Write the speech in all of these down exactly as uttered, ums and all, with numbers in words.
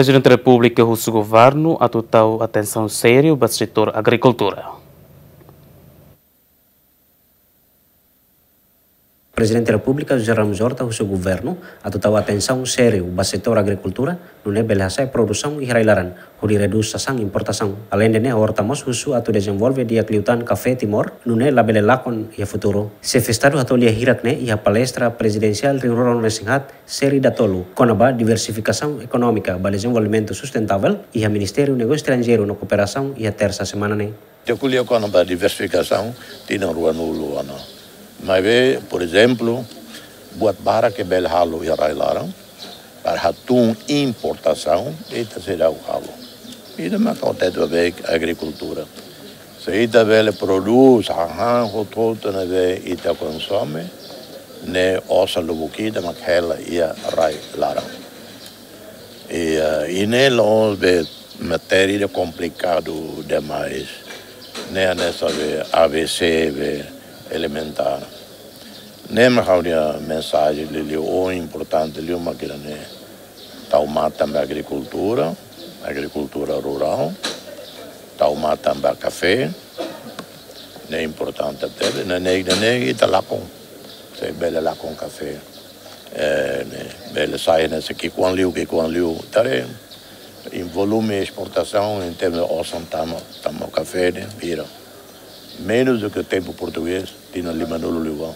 Prezidente Repúblika husu governu atu tau atensaun sériu ba setór agrikultura. Prezidente Repúblika José Ramos Horta husu governu atu tau atensaun sériu ba setór agrikultura, nune'e bele hasa'e produsaun iha rai-laran, hodi redús sasán importasaun. Aleinde ne'e, Horta mós husu atu dezenvolve di'ak liután kafé Timor, nune'e labele lakon iha futuru. Xefe Estadu hato'o lia hirak ne'e iha palestra prezidensiál rihun rua ruanulu-resin-haat, série datolu, kona-ba diversifikasaun ekonómika ba dezenvolvimentu sustentável, iha Ministériu Negósiu Estranjeiru no Kooperasaun, iha tersa semana ne'e. Ita ko'alia kona-ba diversifikasaun tinan ruanulu ona. Maibé, por ezemplu, buat barak ke bele halo iha rai-laran, para hatún importasaun, ita seidauk halo. Ida mak akontese ba agrikultura. Se ita bele prodús, hahán hotu-hotu ne'ebé ita konsome, ne'e osan lubuk ida mak hela iha rai-laran. I, eh, i ne'e la'ós be matéria ida komplikadu demais. Ne'e hanesan be A B C be elementár. Ne'e mak ha'u-nia mensajen liuliu, o importante liu mak ida-ne'e. Tau matan ba agrikultura, agrikultura rurál. Tau matan ba kafé. Ne'e importante tebes, ne'e, ne'e, ne'e, ne'e ita lakon. Se bele lakon kafé. Eh, ne'e, bele sai ne'e, se ki'ikoan liu, ki'ikoan liu. Tare, em volume esportasaun, em termos de osan tama, tama kafé, ne'e, bira. Menos do que o tempo português, tinan limanulu liubá.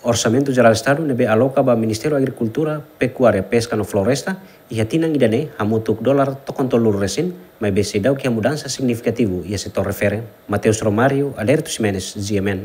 Orsamentu Jerál Estadu ne'ebé aloka ba Ministériu Agrikultura, Pekuária, Peska no Floresta, iha tinan ida-ne'e hamutuk dolar tokon tolunulu resin, maibé seidauk iha mudansa signifikativu iha setór refere. Mateus Romário, Adérito Ximenes, G M N.